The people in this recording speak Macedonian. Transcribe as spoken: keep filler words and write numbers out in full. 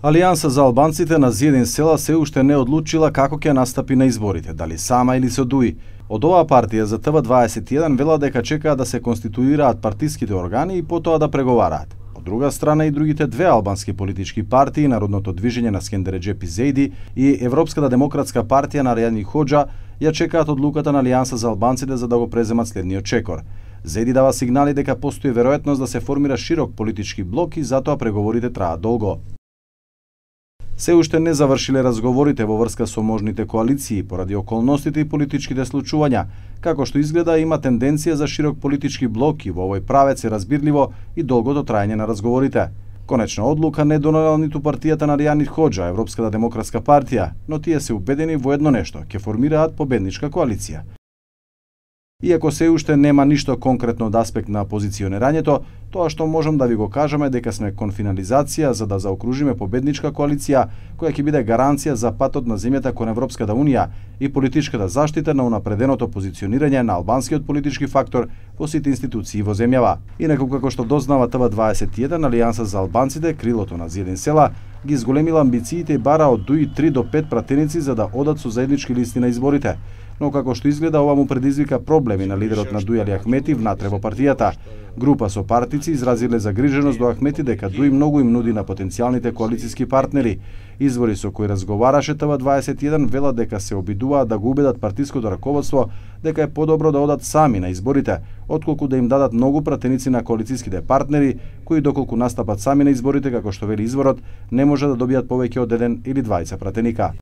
Алијанса за албанците на Зиедин села се уште не одлучила како ќе настапи на изборите, дали сама или со ДУИ. Од оваа партија за Т В дваесет и еден вела дека чекаат да се конституираат партиските органи и потоа да преговараат. Од друга страна и другите две албански политички партии, Народното движење на Скендер Реџепи Зејди и Европската демократска партија на Рајани Хоџа, ја чекаат одлуката на Алијанса за албанците за да го преземат следниот чекор. Зејди дава сигнали дека постои веројатност да се формира широк политички блок и затоа преговорите траат долго. Се уште не завршиле разговорите во врска со можните коалиции поради околностите и политичките случувања. Како што изгледа, има тенденција за широк политички блок и во овој правец е разбирливо и долгото траење на разговорите. Конечна одлука не донела ниту партијата на Рајани Хоџа, Европската демократска партија, но тие се убедени во едно нешто, ќе формираат победничка коалиција. Иако се уште нема ништо конкретно од аспект на позиционирањето, тоа што можам да ви го кажеме дека сме кон финализација за да заокружиме победничка коалиција која ќе биде гаранција за патот на земјата кон Европската унија и политичката заштита на унапреденото позиционирање на албанскиот политички фактор во сите институции во земјава. Инаку, како што дознава Т В дваесет и еден, Алијанса за албанците, крилото на Зиедин села, ги зголемила амбициите и бара од ДУИ три до пет пратеници за да одат со заеднички листи на изборите. Но како што изгледа, ова му предизвика проблеми на лидерот на ДУИ Али Ахмети внатре во партијата. Група со партици изразиле загриженост до Ахмети дека ДУИ многу им нуди на потенцијалните коалициски партнери. Извори со кои разговараше Т В дваесет и еден велат дека се обидуваат да го убедат партиското раководство дека е подобро да одат сами на изборите, отколку да им дадат многу пратеници на коалициските партнери, кои доколку настапат сами на изборите, како што вели изворот, не може да добијат повеќе од еден или двајца пратеника.